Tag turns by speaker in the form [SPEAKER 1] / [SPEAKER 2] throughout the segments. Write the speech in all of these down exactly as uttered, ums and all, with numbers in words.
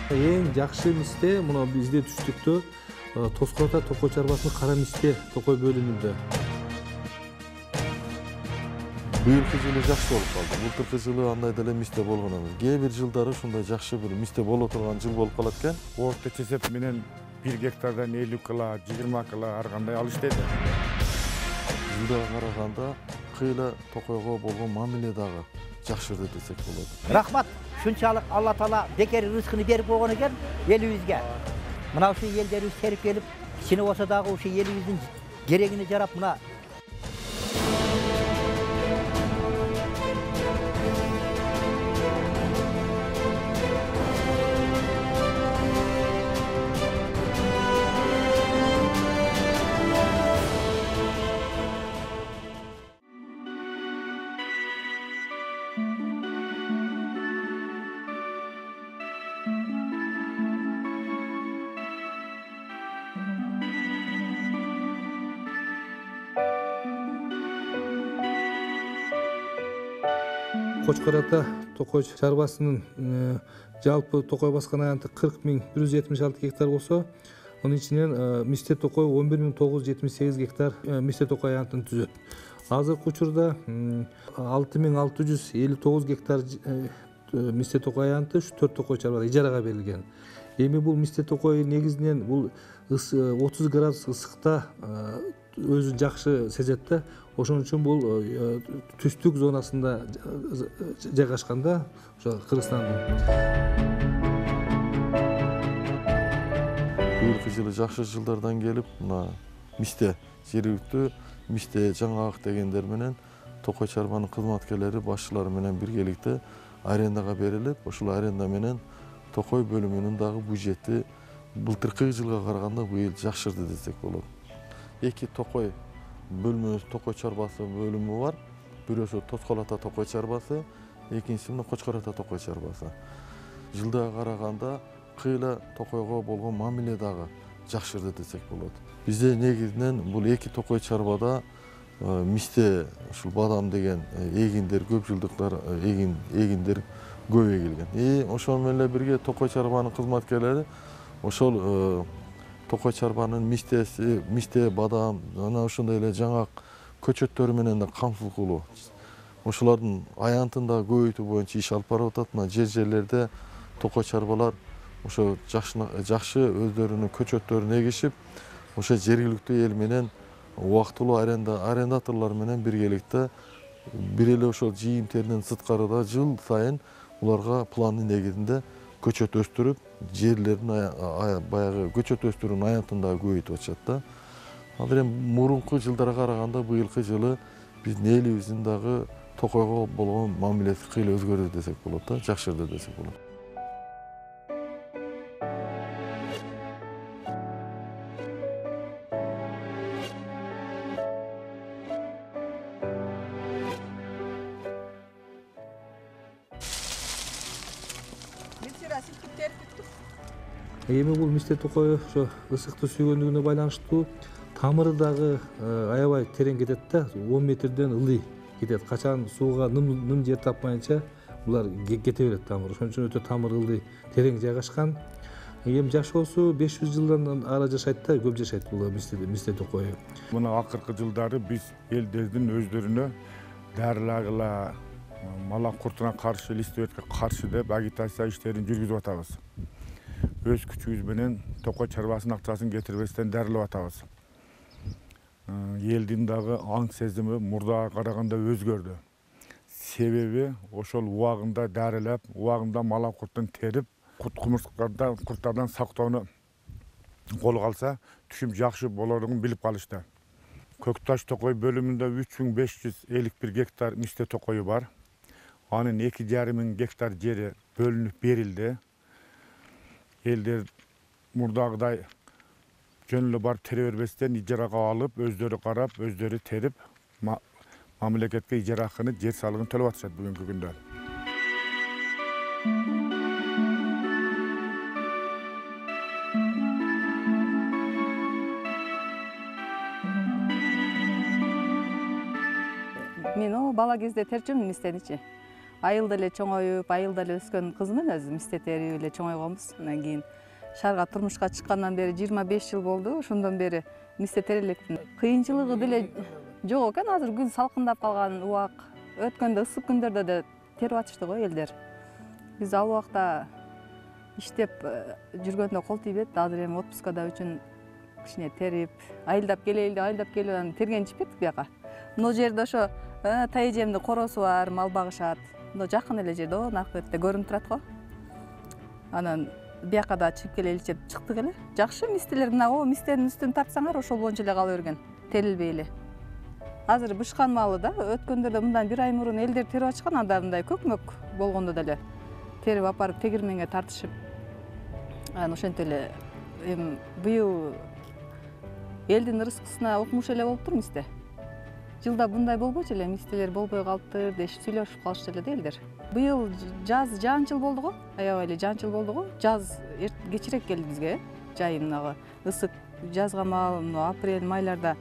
[SPEAKER 1] Эң жакшы мисте мына бизде түштүктө Тоскор ата токой чарбасынын кара мисте токой бөлүмүндө.
[SPEAKER 2] Быйылкы жылы жакшы болуп калды. Былтыркы жылы андай деле мисте болгон эмес. Кээ бир жылдары ушундай жакшы бир мисте боло турган жыл болуп калат экен.
[SPEAKER 3] Орточо эсеп менен бир гектардан элүү кыла, жыйырма кыла ар кандай алыш дейт.
[SPEAKER 2] Жылдага караганда кыйла токойго болгон мамиле дагы жакшырды десек болот.
[SPEAKER 4] Рахмат. Шунчалык Алла Таала бекер рызкыны берип койгон экен элибизге. Мына ушу элдерибиз терип келип, кичине болсо дагы ушу элибиздин керегине жарап мына
[SPEAKER 1] Кочкор ата токой чарбасынын жалпы токой баскан аянты кырк миң бир жүз жетимиш алты гектар болсо, анын ичинен мисте токой он бир миң тогуз жүз жетимиш сегиз гектар мисте токой аянтын түзөт. Азыркы учурда алты миң алты жүз элүү тогуз гектар мисте токой аянты ушу төрт токой чарбада ижарага берилген. Эми бул мисте токой негизинен бул отуз градус ысыкта өзүн жакшы сезет да. Ошон үчүн бул түстүк зонасында жайгашканда, ошо Кыргызстандын.
[SPEAKER 2] Быйылкы жылы жакшы жылдардан келип, мына мисте жергиликтүү мисте жаңаак дегендер менен токой чарбанын кызматкерлери башчылары менен биргеликте арендага берилип, ошол аренда менен токой бөлүмүнүн дагы бюджети былтыркы жылга караганда быйыл жакшырды десек болот. Эки токой бөлмө токой чарбасы бөлүмү бар. Бирөөсү Тоскор ата токой чарбасы, экинчиси мына Кочкор ата токой чарбасы. Жылдага караганда кыйла токойго болгон мамиле дагы жакшырды десек болот. Бизде негизинен бул эки токой чарбада мисте ушул бадам деген эгиндер көп жылдыктар эгин эгиндер көп эгилген. И ошол менен эле бирге токой чарбанын кызматкерлери ошол токой чарбанын мистеси, мисте, бадам, жана ошондой эле жаңаак көчөттөрү менен да камсыздуулуу. Ошолордун аянтын да көбөйтүү боюнча иш алып барып атат. Мына жер жерлерде токой чарбалар ошо жакшы өздөрүнүн көчөттөрүн эгишип, ошо жергиликтүү эл менен убактылуу аренда арендаторлор менен биргеликте бир эле ошол жыйынтегинен сырткарыда жыл сайын уларга пландын негизинде көчөт өстүрүп, жерлерин баягы көчөт өстүрүүнүн аянтын дагы көбөйтүп атышат да. Азыр эми мурунку жылдарга караганда быйылкы жылы биздин элибиздин дагы токойго болгон мамилеси кыйла өзгөрдү десек болот да, жакшырды десек болот.
[SPEAKER 1] Эми бул мисте токой ошо ысыкты сүйгөндүгүнө байланыштуу тамыры дагы аябай терең кетет да, он метрден ылдый кетет. Качан сууга ным жер тапмайынча булар кете берет тамыр. Ошон үчүн өтө тамыр ылдый терең жайгашкан. Эми жашоосу беш жүз жылдан ары жашайт да, көп жашайт бул мисте токой.
[SPEAKER 3] Мына акыркы жылдары биз элдердин өздөрүнө дарылагыла мала куртуна каршы, листөбөткө каршы деп агитация иштерин жүргүзүп атабыз. Өз күчүбүз менен токой чарбасынын акчасын кетирбестен дарылап атабыз. Элдин дагы аң сезими мурдага караганда өзгөрдү. Себеби ошол убагында дарылап, убагында мала куртун терип, курт кумурскардан, курттардан сактоону колго алса, түшүм жакшы болоругун билип калышты. Көкташ токой бөлүмүндө үч миң беш жүз элүү бир гектар мисте токою бар. Анын эки жарым миң гектар жери бөлүнүп берилди. Элдер мурдагыдай жөн эле барып тере бербестен ижарага алып, өздөрү карап, өздөрү терип, мамлекетке ижара акыны, жер салыгын төлөп атышат бүгүнкү күндө.
[SPEAKER 5] Мен о бала кезде терчүмүн мистеничи. айылда эле чоңоюп, айылда эле өскөн кызмын өзү, мисте терип эле чоңойгонбуз. Андан кийин шаарга турмушка чыккандан бери жыйырма беш жыл болду. Ошондон бери мисте терип элекмин. Кыйынчылыгы деле жок экен. Азыр күн салкындап калган убак. Өткөндө ысык күндөрдө да терип атышты го элдер. Биз ал убакта иштеп жүргөндө кол тийбейт. Азыр эми отпускада үчүн кичине терип, айылдап келели, айылдап келип анан тергенчип кеттик бияка. Мына жерде ошо тайэжемдин коросу бар, мал багышат. Мына жакын эле жерде, наркы бетте көрүнүп турат го. Анан бияка да чыгып келели деп чыктык эле. Жакшы мистелер мына о мистенин үстүн тартсаңар ошол боюнча эле кала берген. Терилбей эле. Азыр бышкан малы да өткөндөрдө мындан бир ай мурун элдер терип ачкан, анда мындай көкмөк болгондо деле терип апарып тегирменге тартышып. Анан ошентип эле эми быйыл элдин ырыскысына укмуш эле болуптур мисте. Жылда мындай болбойчу эле, мистелер болбой калыптыр деп сүйлөшүп калышты эле да элдер. Быйыл жаз жаанчыл болду го, аябай эле жаанчыл болду го. Жаз кечирээк келди бизге, жай мынагы ысык жазга маал, апрель, майларда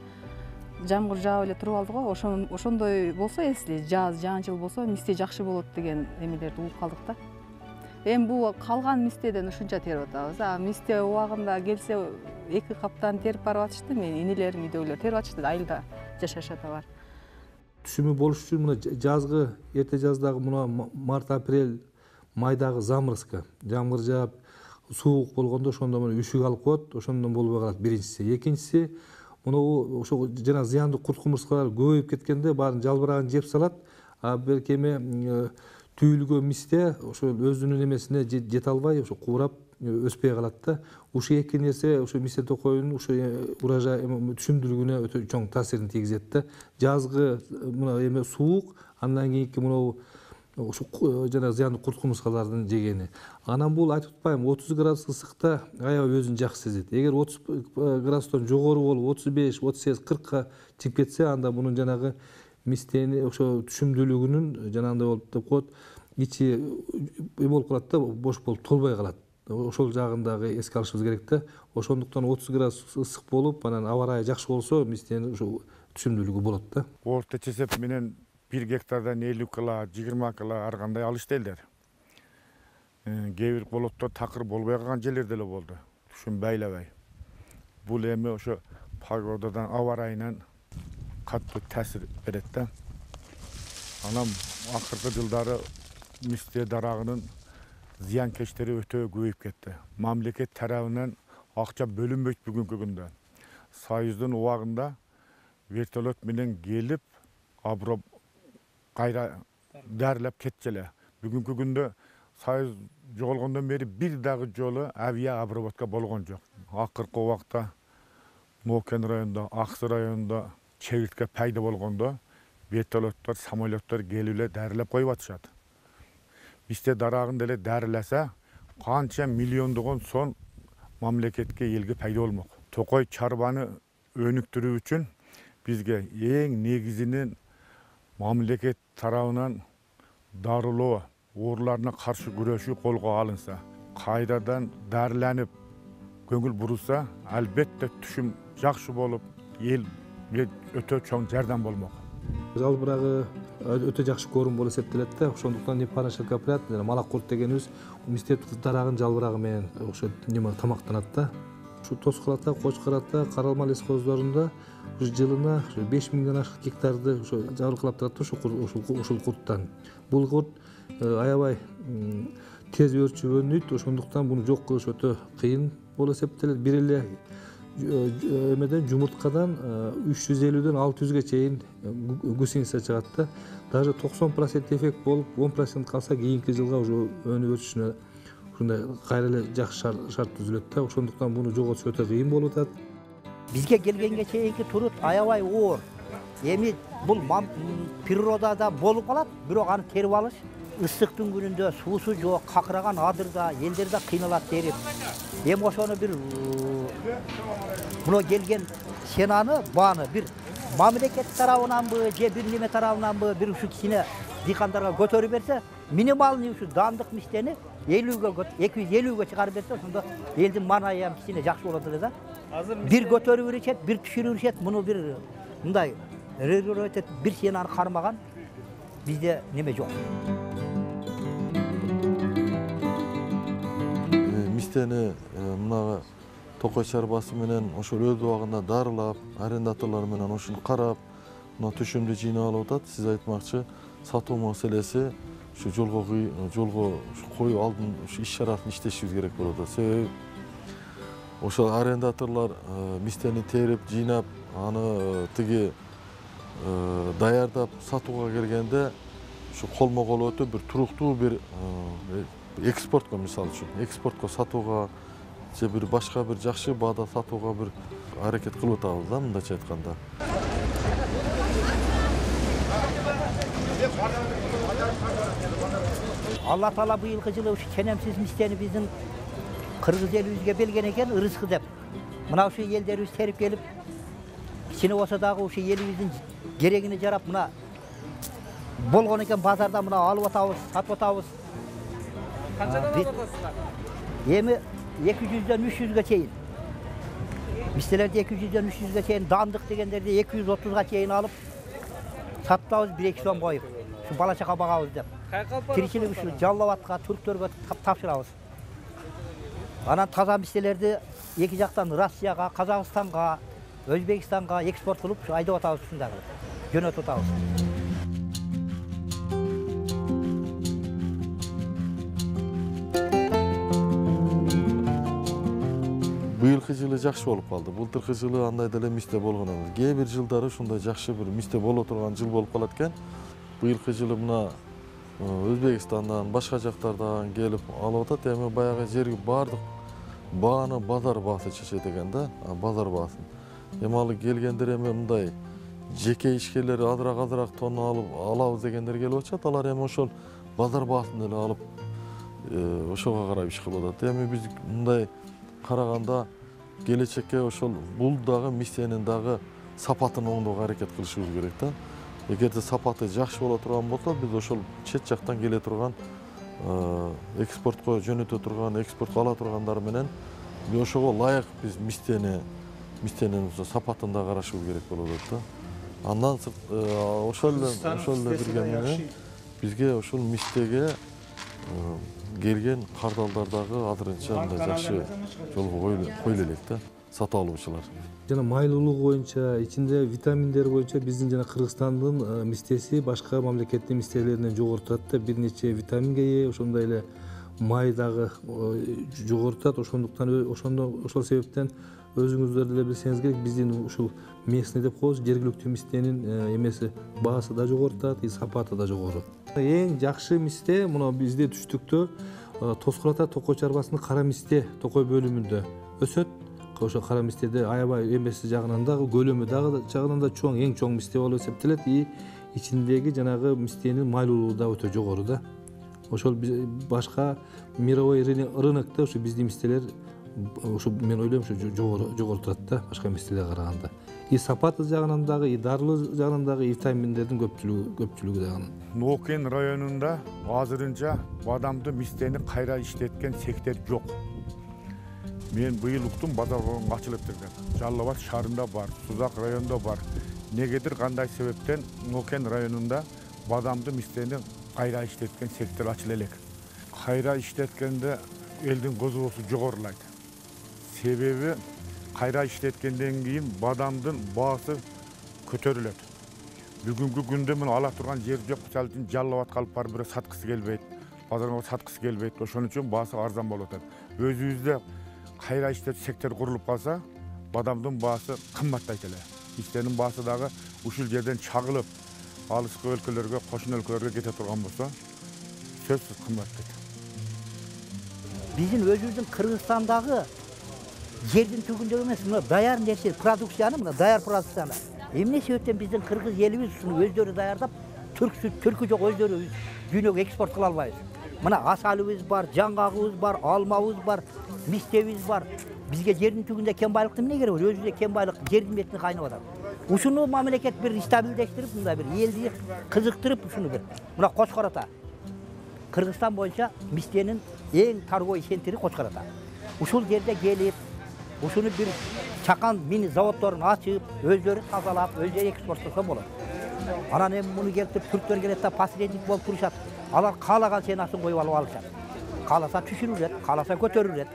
[SPEAKER 5] жамгыр жаап эле туруп алды го. Ошондой болсо эсли, жаз жаанчыл болсо мисте жакшы болот деген эмелерди угуп калдык да. Эми бул калган мистеден ушунча терип атабыз. А мисте убагында келсе эки каптан терип барып атышты. Менин инилерим, үйдөгүлөр терип атышты, айылда жашашат алар.
[SPEAKER 1] Түшүмү болуш үчүн мына жазгы, эрте жаздагы мына март, апрель, майдагы заморозка, жамгыр жаап, суук болгондо ошондо мына үшүк алып коет, ошондон болбой калат биринчиси. Экинчиси, мына ошо жана зыяндуу курт кумурскалар көбөйүп кеткенде баарын жалбырагын жеп салат. А берки эми түйүлгөн мисте ошо өзүнүн эмесине жете албай, ошо куурап өспөй калат да. Ушул эки нерсе ошо мисте токойдун ошо урожай түшүмдүүлүгүнө өтө чоң таасирин тийгизет да. Жазгы мына эме суук, андан кийинки мына ошо жана зыяндуу курт кумурскалардын жегени. Анан бул айтып атпайм, отуз градус ысыкта аябай өзүн жакшы сезет. Эгер отуз градустан жогору болуп, отуз беш, отуз сегиз, кыркка чыгып кетсе, анда мунун жанагы мистени ошо түшүмдүүлүгүнүн жанагындай болуп деп коет, ичи эме болуп калат да, бош болуп толбой калат. Ошол жагын дагы эске алышыбыз керек да. Ошондуктан отуз градус ысык болуп, анан аба ырайы жакшы болсо, мистенин ошо түшүмдүүлүгү болот да.
[SPEAKER 3] Орто чесеп менен бир гектардан элүү кыла, жыйырма кыла ар кандай алышты элдер. Кээ бир болоттор такыр болбой калган жерлер деле болду. Түшүм байлабай. Бул эми ошо погодадан, аба ырайынан катуу таасир берет да. Анан акыркы жылдары мисте дарагынын зыянкечтери өтө көбөйүп кетти. Мамлекет тарабынан акча бөлүнбөйт бүгүнкү күндө. Союздун убагында вертолет менен келип, абро кайра дарылап кетчү эле. Бүгүнкү күндө Союз жоголгондон бери бир дагы жолу авиа обработка болгон жок. Акыркы убакта Нокен районунда, Аксы районунда чегиртке пайда болгондо вертолеттор, самолеттор келип эле дарылап коюп атышат. Мисте дарагын деле дарыласа, канча миллиондогон сом мамлекетке, элге пайда болмок. Токой чарбаны өнүктүрүү үчүн бизге эң негизинен мамлекет тарабынан дарылоо, ооруларына каршы күрөшүү колго алынса, кайрадан дарыланып көңүл бурулса, албетте түшүм жакшы болуп, эл өтө чоң жардам болмок.
[SPEAKER 1] Жалбырагы өтө жакшы корум болуп эсептелет да. Ошондуктан непаранча капрат, малак курт дегенибиз мисте дарагын жалбырагы менен ошо неме тамактанат да. Ушу Тоскулата, Кочкор ата, Каралма лескоздорунда жылына беш миңден ашык гектарды ошо жабыркалап турат ушул ушул курттан. Бул курт аябай тез өрчүп өнүйт, ошондуктан буну жок кылыш өтө кыйын болуп эсептелет. Бир эле эмеден жумурткадан үч жүз элүүдөн алты жүзгө чейин гусеница чыгат да. Даже токсон процент эффект болуп, он процент калса кийинки жылга уже өнүп өсүшүнө ушундай кайра эле жакшы шарт түзүлөт да. Ошондуктан буну жоготуш өтө кыйын болуп атат.
[SPEAKER 4] Бизге келгенге чейинки турут аябай оор. Эми бул природада болуп калат, бирок аны терип алыш ысыктын күнүндө суусу жок, какыраган адырда элдер да кыйналат терип. Эми ошону бир мына келген сенаны, бааны бир мамлекет тарабынанбы, же бир неме тарабынанбы бир ушу кичине дыйкандарга көтөрүп берсе, минималный ушу даамдык мистени элүүгө, эки жүз элүүгө чыгарып берсе, ошондо элдин маанайы ham кичине жакшы болот эле да. Бир көтөрүп беришет, бир түшүрүп беришет, муну бир мындай регулировать этип бир сенаны кармаган бизде неме жок.
[SPEAKER 2] мистени мына токой чарбасы менен ошол өз убагында дарылап, арендаторлор менен ошону карап, мына түшүмдү жыйнап алып атат. Сиз айтмакчы, сатуу маселеси ушу жолго жолго коюу алдын ушу иш-чарасын иштешибиз керек болуп атат. Себеби ошол арендаторлор мистени терип, жыйнап, аны тиги даярдап сатууга келгенде ушу колмо-кол өтүп бир туруктуу бир экспортко, мисалы үчүн, экспортко сатууга же бир башка бир жакшы баада сатууга бир аракет кылып атабыз да, мындайча айтканда.
[SPEAKER 4] Алла Таала быйылкы жылы ушу ченемсиз мистени биздин кыргыз элибизге берген экен, ырыскы деп. Мына ушу элдерибиз терип келип, кичине болсо дагы ушу элибиздин керегине жарап, мына болгон экен базарда мына алып атабыз, сатып атабыз. Канчадан алып атасыздар? Эми эки жүздөн үч жүзгө чейин. Мистелерди эки жүздөн үч жүзгө чейин, дандык дегендерди эки жүз отузга чейин алып сатабыз, бир эки сом коюп. Ушу бала чака багабыз деп. Тиричилик ушу Жалал Абадка, түрктөргө тапшырабыз. Анан таза мистелерди эки жактан Россияга, Казакстанга, Өзбекстанга экспорт кылып, ушу айдап атабыз, ушундай кылып жөнөтүп атабыз.
[SPEAKER 2] Быйылкы жылы жакшы болуп калды. Былтыркы жылы андай деле мисте болгон эмес. Кээ бир жылдары ушундай жакшы бир мисте боло турган жыл болуп калат экен. Быйылкы жылы мына Өзбекстандан, башка жактардан келип алып атат. Эми баягы жерги баардык бааны базар баасы чечет экен да, базар баасын. Эми ал келгендер эми мындай жеке ишкерлер азыраак азыраак тонна алып алабыз дегендер келип атышат. Алар эми ошол базар баасын эле алып ошого карап иш кылып атат. Эми биз мындай караганда келечекке ошол бул дагы мистенин дагы сапатын оңдоого аракет кылышыбыз керек да. Эгерде сапаты жакшы боло турган болсо, биз ошол чет жактан келе турган экспортко жөнөтө турган, экспортко ала тургандар менен ошого ылайык биз мистени мистенин сапатын да карашыбыз керек болот да. Андан ошол эле ошол эле бирге менен бизге ошол мистеге келген кардалдар дагы азырынча мындай жакшы жолго коюла элек да, сатып алуучулар.
[SPEAKER 1] Жана майлуулугу боюнча, ичинде витаминдер боюнча биздин жана Кыргызстандын мистеси башка мамлекеттин мистелеринен жогору турат да. Бир нече витаминге ээ, ошондой эле май дагы жогору турат. Ошондуктан ошондо ошол себептен өзүңүздөр деле билсеңиз керек, биздин ушул местный деп коебуз, жергиликтүү мистенин эмеси баасы да жогору турат, сапаты да жогору. Эң жакшы мисте мына бизде түштүктө Тоскул ата токой чарбасынын кара мисте токой бөлүмүндө өсөт. Ошо кара мистеде аябай эмеси жагынан дагы, көлөмү дагы жагынан да чоң, эң чоң мисте болуп эсептелет. И ичиндеги жанагы мистенин майлуулугу да өтө жогору да. Ошол башка мировой рынокто ушу биздин мистелер ушу мен ойлойм ушу жогору жогору турат да, башка мистелерге караганда. И сапаты жагынан дагы, и дарылуу жагынан дагы, витаминдердин көпчүлүгү көпчүлүгү дагы.
[SPEAKER 3] Нокен районунда азырынча бадамды мистени кайра иштеткен сектор жок. Мен быйыл уктум, базар ачылып турган. Жалал Абад шаарында бар, Сузак районунда бар. Негедир кандай себептен Нокен районунда бадамды мистени кайра иштеткен сектор ачыла элек. Кайра иштеткенде элдин козгоосу жогорулайт. Себеби кайра иштеткенден кийин бадамдын баасы көтөрүлөт. Бүгүнкү күндө мен ала турган жер жок, мисалы үчүн Жалал Абадка алып барып бирөө саткысы келбейт, базарга саткысы келбейт. Ошон үчүн баасы арзан болуп атат. Өзүбүздө кайра иштетүү сектор курулуп калса, бадамдын баасы кымбаттайт эле. Мистенин баасы дагы ушул жерден чагылып, алыскы өлкөлөргө, кошун өлкөлөргө кете турган болсо, сөзсүз кымбаттайт.
[SPEAKER 4] Биздин өзүбүздүн Кыргызстандагы жердин түгүндө эмес, мына даяр нерсе, продукцияны, мына даяр продукцияны. Эмне себептен биздин кыргыз элибиз ушуну өздөрү даярдап, түрксү түркү жок өздөрү дүйнөгө экспорт кыла албайбыз. Мына асалыбыз бар, жаңгагыбыз бар, алмабыз бар, мистебиз бар. Бизге жердин түгүндө кен байлыкты эмне кереги бар? Өзүбүздө кен байлык жердин бетине кайнап атат. Ушуну мамлекет бир стабилдештирип, мындай бир элди кызыктырып, ушуну бир. Мына Кочкор ата. Кыргызстан боюнча мистенин эң торговый центри Кочкор ата. Ушул жерде келип, ушуну бир чакан мини заводдорун ачып, өздөрү тазалап, өздөрү экспорттосо болот. Анан эми муну келип түрктөр келет да посредник болуп турушат. Алар каалаган ценасын коюп алып алышат. Кааласа түшүрүлөт, кааласа көтөрүлөт.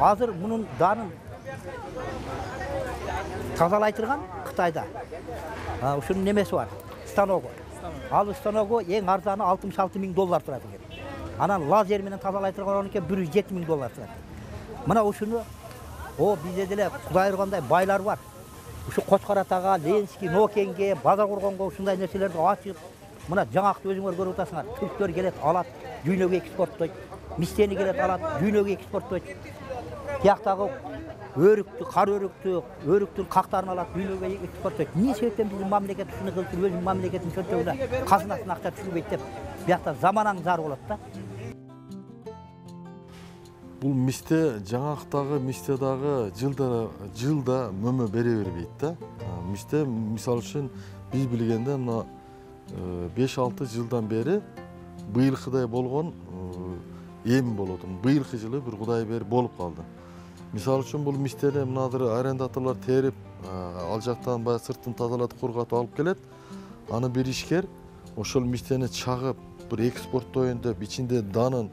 [SPEAKER 4] Азыр bunun danın tazalaytırgan Kıtayda. Uşunun nemesi var? Stanogu. Al stanogu en arzanı altmış altı bin dolar turadi. Anan lazer menен tazalaytırgan onunki bir yüz жети bin dolar turadi. Mına uşunu o bizde dele Kuday urgандай baylar var. Uşu Koçkaratага, Ленинский, Нокенге, Базар Курганга ушундай нерселерди ачып, мына жаңакты өзүңөр көрүп атасыңар. Түрктөр келет, алат, дүйнөгө экспорттойт. Мистени келет, алат, дүйнөгө экспорттойт. Тияктагы өрүктү, кар өрүктү, өрүктүн кактарын алат, дүйнөгө экспорттойт. Эмне себептен биздин мамлекет ушуну кылып, өзүнүн мамлекетинин чөнтөгүнө казынасына акча түшүрбөйт деп, биякта заманаң зар болот да.
[SPEAKER 2] Бул мисте жаңактагы мистедагы жылда жылда мөмө бере бербейт да. Мисте мисалы үчүн биз билгенде мына беш алты жылдан бери быйылкыдай болгон эми болот. Быйылкы жылы бир кудай бери болуп калды. Мисалы үчүн бул мистени мынадыр арендаторлор терип, ал жактан баягы сыртын тазалатып, кургатып алып келет. Аны бир ишкер ошол мистени чагып, бир экспорттоюн деп, ичинде данын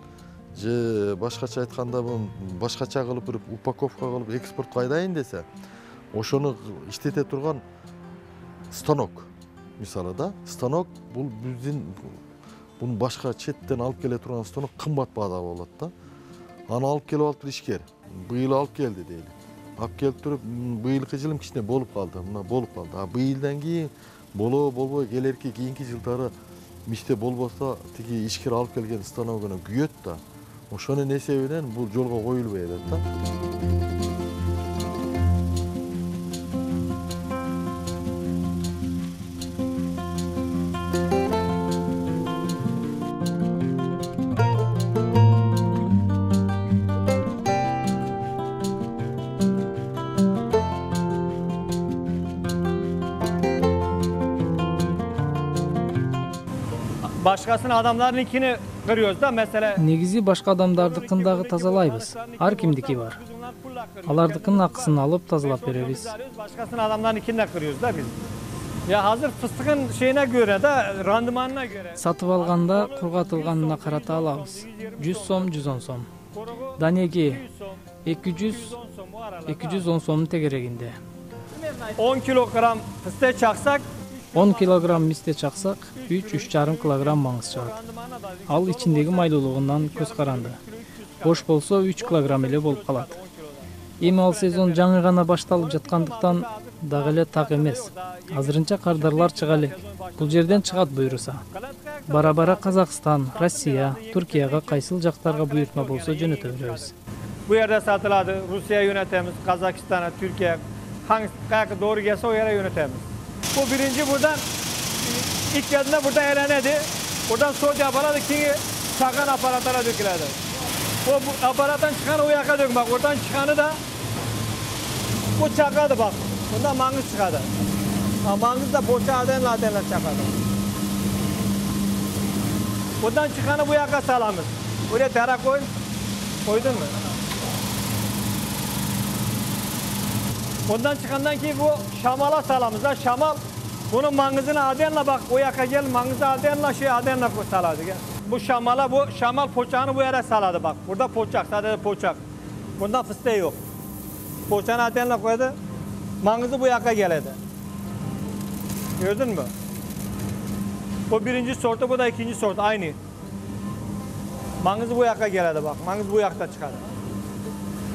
[SPEAKER 2] же башкача айтканда бул башкача кылып бир упаковка кылып экспортко айдайын десе, ошону иштете турган станок мисалы да. Станок бул биздин буну башка четтен алып келе турган станок кымбат баада болот да. Аны алып келип алыптыр ишкер. Быйыл алып келди дейли. Алып келип туруп быйылкы жылым кичине болуп калды. Мына болуп калды. А быйылдан кийин болобу болбой келерки кийинки жылдары мисте болбосо тиги ишкер алып келген станогуна күйөт да. Ошонун эсебинен бул жолго коюлбай атат да.
[SPEAKER 6] Başkasının adamlarınkini kırıyoruz da mesela.
[SPEAKER 7] Негизи башка адамдардыкын дагы тазалайбыз. Ар кимдики бар. Алардыкынын акысын алып тазалап беребиз.
[SPEAKER 6] Başkasının adamlarınkini de kırıyoruz da biz. Ya hazır fıstıkın şeyine göre de randımanına göre.
[SPEAKER 7] Сатып алганда кургатылганына карата алабыз. жүз сом, жүз он сом. Данеги эки жүз, эки жүз он сомдун тегерегинде.
[SPEAKER 6] on kilogram fıstık çaksak
[SPEAKER 7] он килограмм мисте чаксак, үч үч жарым килограмм маңыз чыгат. Ал ичиндеги майлуулугунан көз каранды. Бош болсо үч килограмм эле болуп калат. Эми ал сезон жаңы гана башталып жаткандыктан дагы эле так эмес. Азырынча кардарлар чыга элек. Бул жерден чыгат буйруса. Бара-бара Казакстан, Россия, Түркияга кайсыл жактарга буйртма болсо жөнөтө беребиz.
[SPEAKER 6] Bu yerde satıladı. Rusya'ya yönetemiz, Kazakistan'a, Türkiye'ye. Hangi kayakı doğru gelse o yere yönetemiz. Bu birinci buradan ilk geldiğinde burada eğlenedi. Buradan soğuk yapaladı ki çakan aparatlara dökülerdi. O bu aparattan çıkanı o yaka dök bak. Oradan çıkanı da bu çakadı bak. Bundan mangız çıkadı. Ha, mangız da boşa adenle adenle çakadı. Buradan çıkanı bu yaka salamız. Buraya dara koy. Koydun mu? Ondan çıkandan ki bu şamala salamız da şamal bunun mangızını adenle bak o yaka gel mangızı adenle şey adenle saladı gel. Bu şamala bu şamal poçağını bu yere saladı bak. Burada poçak sadece poçak. Bunda fıstığı yok. Poçağını adenle koydu. Mangızı bu yaka geledi. Gördün mü? Bu birinci sortu bu da ikinci sortu aynı. Mangızı bu yaka geledi bak. Mangız bu yakta çıkardı.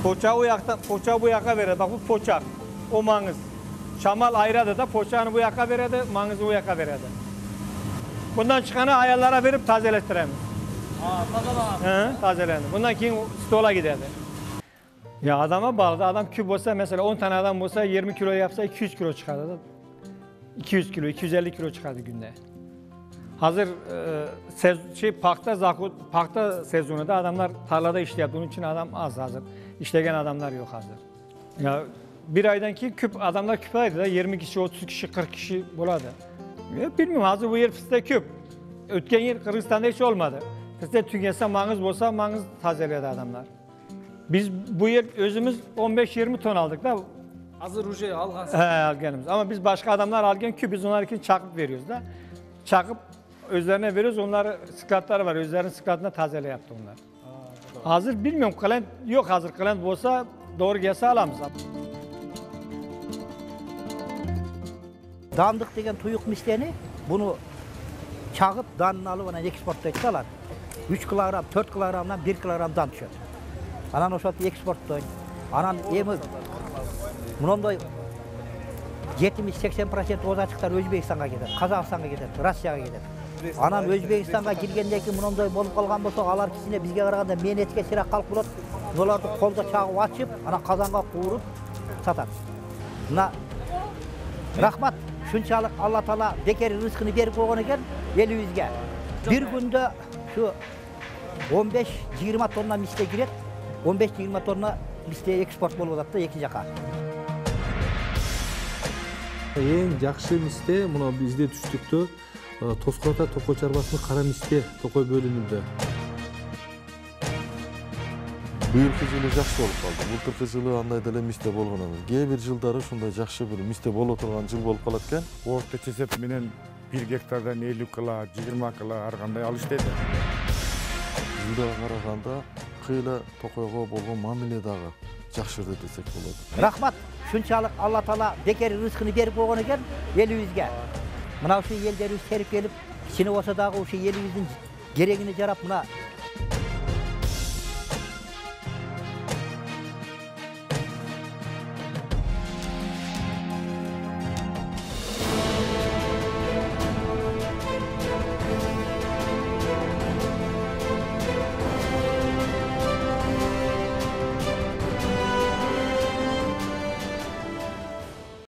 [SPEAKER 6] Poçağı bu yakta, poçağı bu yaka verirdi. Bak bu poçak. O mangız. Şamal ayradı da poçağını bu yaka verirdi, mangızı bu yaka verirdi. Bundan çıkanı ayarlara verip tazelettiremiz. Aa, tazelendi. He, tazelendi. Bundan keyin stola giderdi. Ya adama bağlı. Adam küp olsa mesela on tane adam olsa yirmi kilo yapsa iki yüz kilo çıkardı. iki yüz kilo, iki yüz elli kilo çıkardı günde. Hazır e, sez, şey pakta zakut, pakta sezonu da adamlar tarlada işliyor. Bunun için adam az hazır. İşleyen adamlar yok hazır. Ya bir aydan ki küp adamlar küp aydı da yirmi kişi, otuz kişi, kırk kişi buladı. Ya bilmiyorum hazır bu yer fıstık küp. Ötken yer Kırgızistan'da hiç olmadı. Fıstık tüketse mangız bolsa mangız tazeledi adamlar. Biz bu yer özümüz on beş yirmi ton aldık da.
[SPEAKER 7] Hazır uje algansız.
[SPEAKER 6] He alganımız. Ama biz başka adamlar algen küp biz onlar için çakıp veriyoruz da. Çakıp özlerine veriyoruz. Onları sklatları var. Özlerinin sklatına tazele yaptı onlar. Азыр билмем, кылент жок, азыр кылент болса doğru кесе аламыз.
[SPEAKER 4] Дамдык деген туюк мистени буну чагып, данын алып анан экспорттойт да алар. үч килограмм, төрт килограммдан бир килограмм дан түшөт. Анан ошентип экспорттойт. Анан эми мындай жетимиш сексен процент озатчыктар Өзбекстанга кетет, Казакстанга кетет, Россияга кетет. Анан Өзбекстанга киргенден кийин мындай болуп калган болсо, алар кичине бизге караганда мээнетке сирак калып болот. Буларды колдо чагып ачып, анан казанга кууруп сатат. Мына рахмат, шунчалык Алла Таала бекер рызкыны берип койгон экен элибизге. Бир күндө şu он беш жыйырма тонна мисте кирет, он беш жыйырма тонна мисте экспорт болуп атат да эки жака.
[SPEAKER 1] Эң жакшы мисте мына бизде түштүктө Тоскор Ата Токой чарбасынын кара мисте Токой бөлүнүндө.
[SPEAKER 2] Быйылкы жылы жакшы болуп калды. Былтыркы жылы андай деле мисте болгон эмес. Кээ бир жылдары ушундай жакшы бир мисте боло турган жыл болуп калат экен.
[SPEAKER 3] Орточо эсеп менен бир гектардан элүү кыла, жыйырма кыла ар кандай алыш дейт.
[SPEAKER 2] Жылдага караганда кыйла Токойго болгон мамиле дагы жакшырды десек болот.
[SPEAKER 4] Рахмат, шунчалык Алла Таала бекер рызкыны берип койгон экен элибизге. Мына ушу элдерибиз терип келип, кичине болсо дагы ушу элибиздин керегине жарап, мына